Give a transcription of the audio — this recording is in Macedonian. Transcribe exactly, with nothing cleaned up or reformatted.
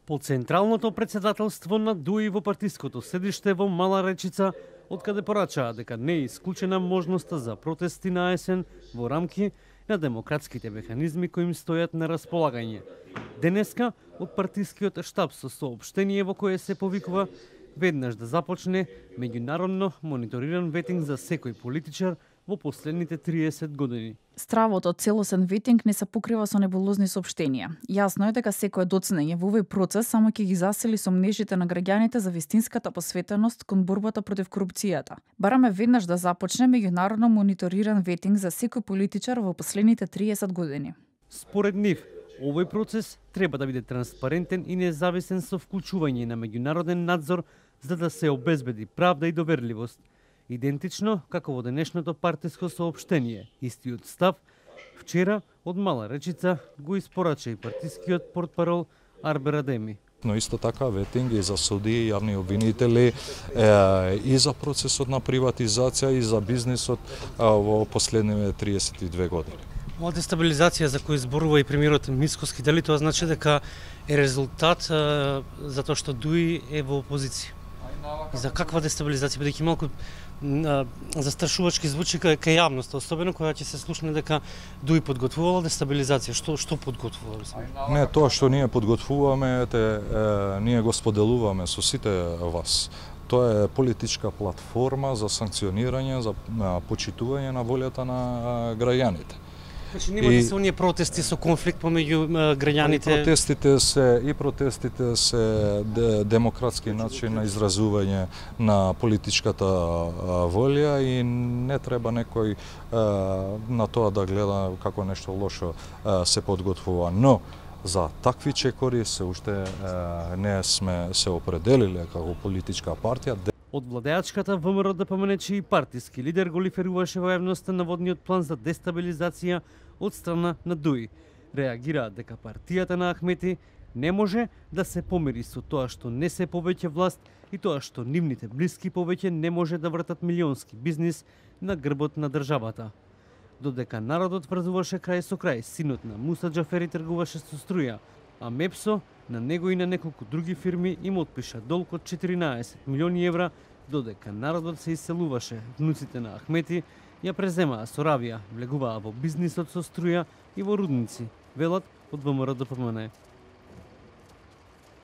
По централното председателство на ДУИ во партиското седиште во Мала Речица, откаде порачаа дека не е исклучена можноста за протести на есен во рамки на демократските механизми кои им стојат на располагање. Денеска, од партискиот штаб со соопштение во кое се повикува веднаш да започне меѓународно мониториран ветинг за секој политичар во последните триесет години. Стравот од целосен ветинг не се покрива со небулозни соопштенија. Јасно е дека секое доцнење во овој процес само ќе ги засили со мрежите на граѓаните за вистинската посветеност кон борбата против корупцијата. Бараме веднаш да започне меѓународно мониториран ветинг за секој политичар во последните триесет години. Според нив, овој процес треба да биде транспарентен и независен со вклучување на меѓународен надзор за да се обезбеди правда и доверливост. Идентично како во денешното партиско соопштение. Истиот став вчера од Мала Речица го испорача и партискиот портпарол Арбер Адеми. Но исто така ветинг и за судии, јавни обвинители, е, и за процесот на приватизација и за бизнисот а, во последниве триесет и две години. Оваа дестабилизација за кој зборува и премиерот Мицкоски, дали тоа значи дека е резултат а, затоа што ДУИ е во опозиција? И за каква дестабилизација, бидејќи малку а, застрашувачки звучи кај, кај јавноста, особено кога ќе се слушне дека ДУИ подготвувала дестабилизација. Што што подготвува? Не, тоа што ние подготвуваме, те, е, ние го споделуваме со сите вас. Тоа е политичка платформа за санкционирање, за а, почитување на волјата на граѓаните. Значи нема да се оние протести со конфликт помеѓу граѓаните. И протестите се и протестите се демократски начин на изразување на политичката волја и не треба некој на тоа да гледа како нешто лошо се подготвува. Но за такви чекори се уште не сме се определиле како политичка партија. Од владеачката ВМРО ДПМН и партиски лидер го лиферуваше во јавноста наводниот план за дестабилизација од страна на ДУИ. Реагираат дека партијата на Ахмети не може да се помири со тоа што не се повеќе власт и тоа што нивните блиски повеќе не може да вртат милионски бизнис на грбот на државата. Додека народот врзуваше крај со крај, синот на Муса Џафери тргуваше со струја, а Мепсо на него и на неколку други фирми им отпиша долг од четиринаесет милиони евра, додека народот се иселуваше. Внуците на Ахмети ја преземаа Соравија, влегуваа во бизнисот со струја и во рудници, велат од ВМРО ДПМН.